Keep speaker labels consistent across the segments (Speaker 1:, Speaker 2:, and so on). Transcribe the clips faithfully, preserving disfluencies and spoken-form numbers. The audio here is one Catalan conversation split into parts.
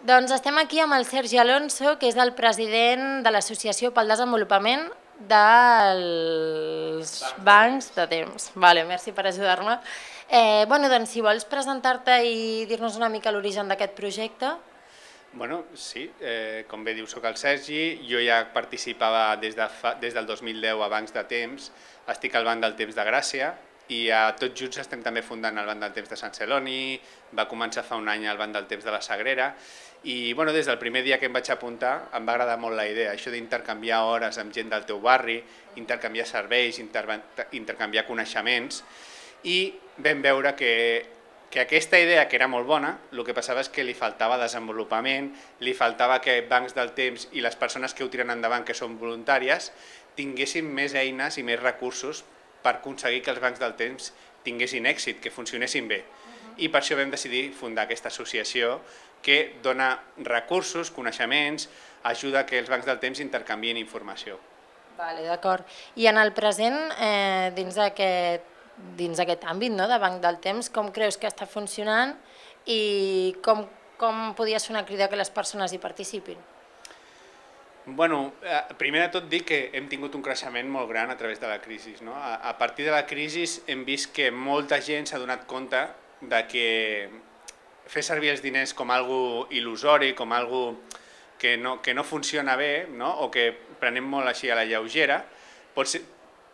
Speaker 1: Doncs estem aquí amb el Sergi Alonso, que és el president de l'Associació pel Desenvolupament dels Bancs de Temps. Vale, merci per ajudar-me. Eh, bueno, doncs, si vols presentar-te i dir-nos una mica l'origen d'aquest projecte.
Speaker 2: Bueno, sí, eh, com bé diu, soc el Sergi, jo ja participava des, de fa, des del dos mil deu a Bancs de Temps, estic al Banc del Temps de Gràcia i a tots junts estem també fundant el Banc del Temps de Sant Celoni, va començar fa un any el Banc del Temps de la Sagrera i bueno, des del primer dia que em vaig apuntar em va agradar molt la idea, això d'intercanviar hores amb gent del teu barri, intercanviar serveis, inter intercanviar coneixements i vam veure que que aquesta idea, que era molt bona, el que passava és que li faltava desenvolupament, li faltava que bancs del temps i les persones que ho tiren endavant, que són voluntàries, tinguessin més eines i més recursos per aconseguir que els bancs del temps tinguessin èxit, que funcionessin bé. I per això vam decidir fundar aquesta associació que dona recursos, coneixements, ajuda que els bancs del temps intercanvien informació.
Speaker 1: Vale, d'acord. I en el present, eh, dins d'aquest dins aquest àmbit no, de Banc del Temps, com creus que està funcionant i com, com podia ser una crida que les persones hi participin?
Speaker 2: Bueno, primer de tot dir que hem tingut un creixement molt gran a través de la crisi. No? A, a partir de la crisi hem vist que molta gent s'ha donat compte de que fer servir els diners com algo il·lusori, com algo que no, que no funciona bé, no? O que prenem molt així a la lleugera, pot ser,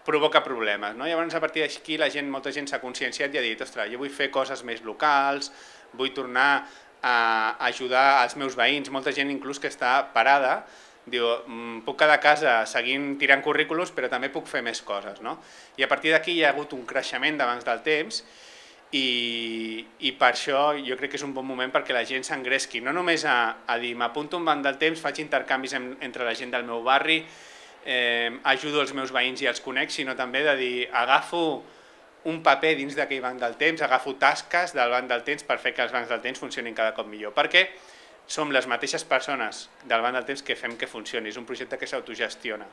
Speaker 2: provoca problemes. No? Llavors, a partir d'aquí, la gent, molta gent s'ha conscienciat i ha dit, ostres, jo vull fer coses més locals, vull tornar a ajudar als meus veïns, molta gent inclús que està parada, diu, puc quedar a casa seguint tirant currículums, però també puc fer més coses. No? I a partir d'aquí hi ha hagut un creixement de bancs del temps i, i per això jo crec que és un bon moment perquè la gent s'engresqui, no només a, a dir, m'apunto un banc del temps, faig intercanvis en, entre la gent del meu barri, Eh, ajudo els meus veïns i els conec, sinó també de dir, agafo un paper dins d'aquell banc del temps, agafo tasques del banc del temps per fer que els bancs del temps funcionin cada cop millor, perquè som les mateixes persones del banc del temps que fem que funcioni, és un projecte que s'autogestiona.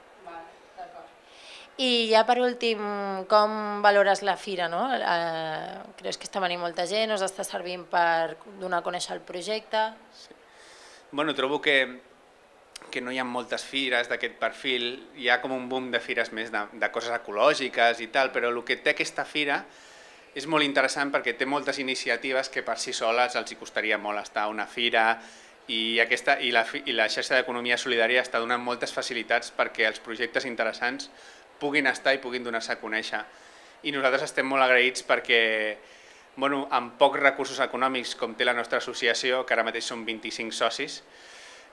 Speaker 1: I ja per últim, com valores la fira? No? Eh, creus que està venint molta gent, us està servint per donar a conèixer el projecte?
Speaker 2: Sí. Bueno, trobo que que no hi ha moltes fires d'aquest perfil, hi ha com un boom de fires més de, de coses ecològiques i tal, però el que té aquesta fira és molt interessant perquè té moltes iniciatives que per si soles els hi costaria molt estar a una fira i, aquesta, i, la, i la xarxa d'economia solidària està donant moltes facilitats perquè els projectes interessants puguin estar i puguin donar-se a conèixer. I nosaltres estem molt agraïts perquè bueno, amb pocs recursos econòmics com té la nostra associació, que ara mateix són vint-i-cinc socis,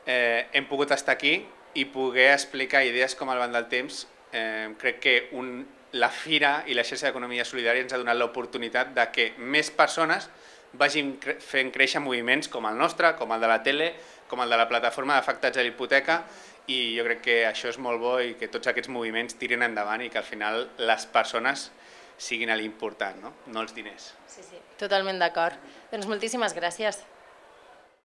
Speaker 2: Eh, hem pogut estar aquí i poder explicar idees com el Banc del Temps. Eh, crec que un, la Fira i la xarxa d'economia solidària ens ha donat l'oportunitat de que més persones vagin cre fent créixer moviments com el nostre, com el de la tele, com el de la plataforma d'afectats a l'hipoteca, i jo crec que això és molt bo i que tots aquests moviments tirin endavant i que al final les persones siguin l'important, no? No els diners.
Speaker 1: Sí, sí, totalment d'acord. Doncs moltíssimes gràcies.